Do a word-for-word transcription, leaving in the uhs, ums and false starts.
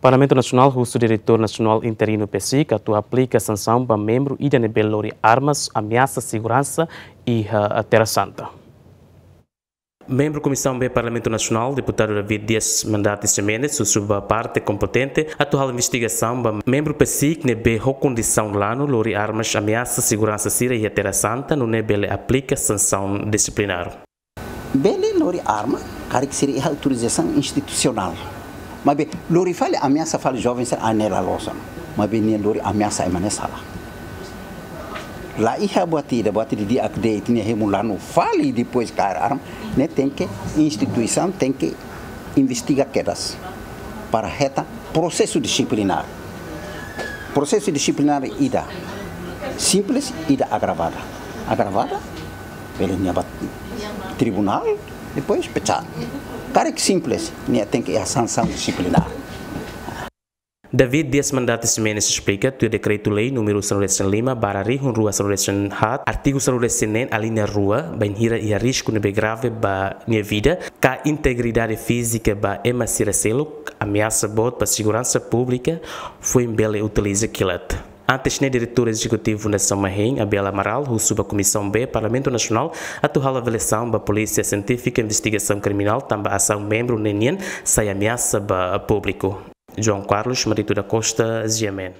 Parlamentu Nasionál husu Diretór Nasionál Interinu PACIC atu aplika sansaun ba membru ida ne'ebé lori armas ameasa seguransa iha Terra Santa. Membru Komisaun B Parlamentu Nasionál, Deputadu David Dias Mandati Ximenes, husu ba parte kompetente atu halo investigasaun ba membru PACIC ne'ebé ho kondisaun lanu lori armas ameasa seguransa sira iha Terra Santa, nune'e bele aplika sansaun disiplinár. Bele lori arma, karik sira iha autorizasaun institusionál. Maibé lori fali, ameasa fali joven sira, ne'e la loos ona. Maibé nia lori ameasa ema ne'e sala. La iha buat ida, buat ida di'ak de'it, nia hemu lanu fali depois kaer arma, ne'e tenke, instituisaun tenke investiga kedas para hetan prosesu disiplinár. Prosesu disiplinár ida simples, ida agravada. Agravada, bele nia ba tribunál, depois pecat. Karik simples, nia tenke iha sansaun disiplinár. David Dias Mandati Ximenes esplika, tuir Dekretu-Lei númeru sanulu-resin-lima barra rihun rua sanulu-resin-haat, artigu sanulu-resin-neen, alínea rua, bainhira iha risku ne'ebé grave ba nia vida ka integridade fízika ba ema sira seluk, ameasa boot ba seguransa públika, foin bele utiliza kilat. Antes ne'e, Diretór Ezekutivu Fundasaun Mahein, Abel Amaral, husu ba Komisaun B Parlamentu Nasionál atu halo avaliasaun ba Polísia Sientífika Investigasaun Kriminál tanba asaun membru ne'e nian sai ameasa ba públiku. João Carlos Marito da Costa, G M N.